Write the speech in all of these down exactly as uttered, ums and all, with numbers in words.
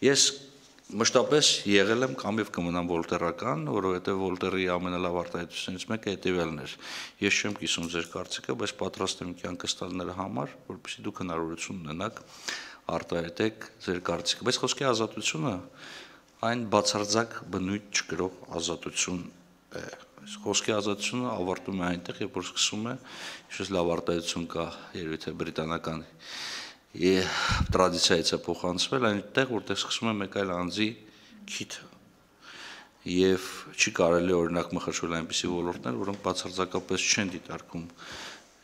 Ես մշտապես եղել եմ կամ եւ կմնամ վոլտերական, որովհետեւ Վոլտերի ամենալավ արտահայտություններից մեկը հետեւյալն էր։ Ես չեմ կիսում ձեր կարծիքը, բայց պատրաստ եմ կյանքս տալ նրա համար, որպեսզի դուք հնարավորություն ունենաք արտահայտեք ձեր կարծիքը։ Բայց խոսքի ազատությունը այն բացարձակ բնույթ չկրող ազատություն է։ Խոսքի ազատությունը ավարտում է այնտեղ, երբ որ սկսում է, իշս լավ արտահայտություն կա, երևի թե բրիտանական տրադիցիայից է փոխանցվել, այնտեղ, որտեղ սկսում է մեկ այլ անձի քիթը։ Եվ չի կարելի օրինակ մխրճվել այնպիսի ոլորտներ, որոնք բացարձակապես չեն դիտարկում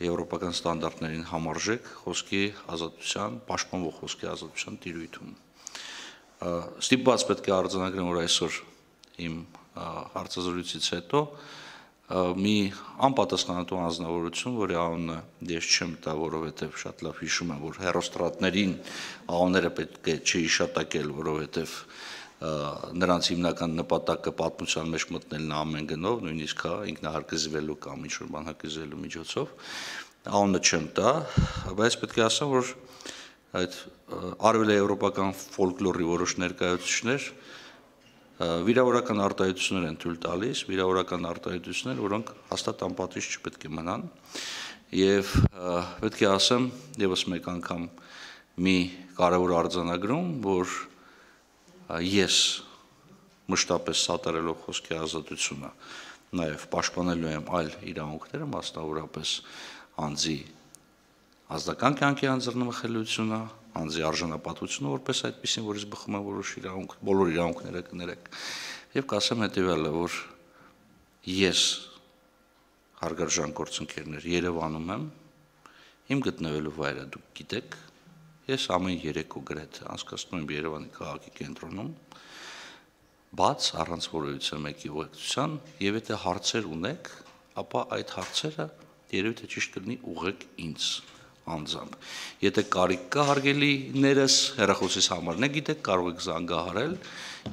եվրոպական ստանդարտներին համարժեք խոսքի ազատության, պաշտպանվող խոսքի ազատության տիրույթում։ Ստիպված պետք է արձանագրեմ, որ այսօր իմ հարցազրույցից հետո մի անպատասխանատու անձնավորություն, որի անունը ես չեմ տա, որովհետև շատ լավ հիշում եմ, որ հեռուստատրատներին անունները պետք է չհիշատակել, որովհետև նրանց հիմնական նպատակը պատմության մեջ մտնելն է ամեն գնով, նույնիսկ ինքնահարկզվելու կամ ինչ-որ բան հարկզվելու միջոցով, անունը չեմ տա, բայց պետք է ասեմ, որ այդ արևելաեվրոպական ֆոլկլորի որոշ ներկայացուցիչներ վիրավորական արտահայտություններ են թույլ տալիս, վիրավորական արտահայտություններ, որոնք հաստատ անպատիժ չպետք է մնան, եւ պետք է ասեմ եւս մեկ անգամ մի կարևոր արձանագրում, որ ես մշտապես սատարելով խոսքի ազատությունը, նաեւ պաշտպանելու եմ այլ իրավունքները, մասնավորապես անձի ազնական կյանքի անձեռնմխելիությունը, անձի արժանապատվությունը, որպես այդպեսին, որից բխում են որոշ իրավունք, բոլոր իրավունքները կներեք, եւ կասեմ հետեւյալը, որ ես հարգարժան գործընկերներ Երևանում եմ, իմ գտնվելու վայրը դուք գիտեք, ես ամեն երեկո գրեթե անցկացնում եմ Երևանի քաղաքի կենտրոնում, բաց առանց որևիցե մեկի ուղեկցության, եւ եթե հարցեր ունեք, ապա այդ հարցերը երևի թե ճիշտ կլինի ուղղեք ինձ անձամբ։ Եթե կարիք կա հարգելիներս, հեռախոսից համարն եք գիտեք, կարող եք զանգահարել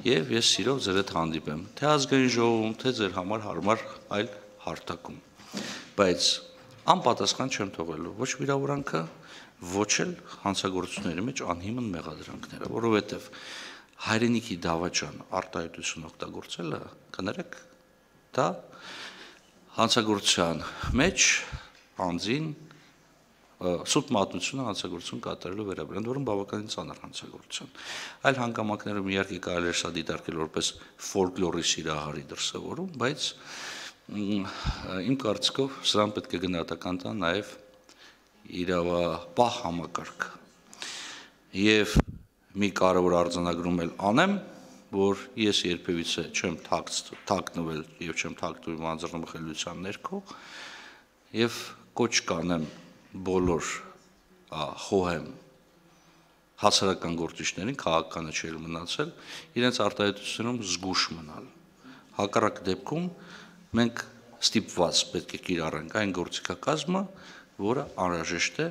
եւ ես սիրով ձեր հետ հանդիպեմ, թե ազգային ժողովում, թե ձեր համար հարմար այլ հարթակում։ Բայց անպատասխան չեմ թողելու ոչ վիրավորանքը, ոչ էլ հանցագործությունների մեջ անհիմն մեղադրանքները, որովհետեւ հայրենիքի դավաճան արտահայտություն օգտագործելը, կներեք, դա հանցագործության մեջ անձին սուտ մատնությունը հանցագործություն կատարելու վերաբերյալ, որոնք բավականին ծանր հանցագործություն։ Այլ հանգամանքներում իհարկե կարելի է սա դիտարկել որպես ֆոլկլորի սիրահարի դրսևորում, բայց իմ կարծիքով սրան պետք է գնահատական տան նաև իրավապահ համակարգը։ Եվ մի կարևոր արձանագրում էլ անեմ, որ ես երբևիցե չեմ թաքնվել եւ չեմ թաքնվում անձեռնմխելիության ներքո եւ կոչ կանեմ բոլոր խոհեմ հասարակական գործիչներին, քաղաքականը չէր մնացել, իրենց արտահայտությունում զգուշ մնալ։ Հակառակ դեպքում մենք ստիպված պետք է կիրառենք այն գործիքակազմը, որը անհրաժեշտ է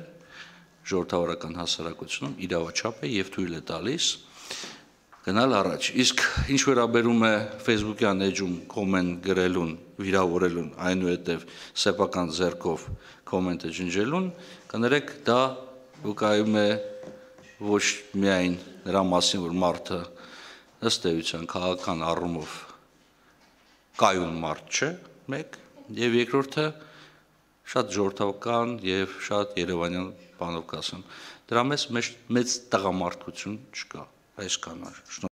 ժողովրդավարական հասարակությունում իրավաչափ է եւ թույլ է տալիս գնալ առաջ։ Իսկ ինչ վերաբերում է Facebook-յան էջում կոմենտ գրելուն, վիրավորելուն, այնուհետև սեփական ձեռքով կոմենտը ջնջելուն, կներեք, դա վկայում է ոչ միայն նրա մասին, որ մարդը ըստ էության քաղաքական առումով կայուն մարդ չէ, մեկ, եւ երկրորդը շատ ժողովրդական եւ շատ երևանյան բանով կասեմ, դրա մեջ մեծ տղամարդկություն չկա, այսքանը։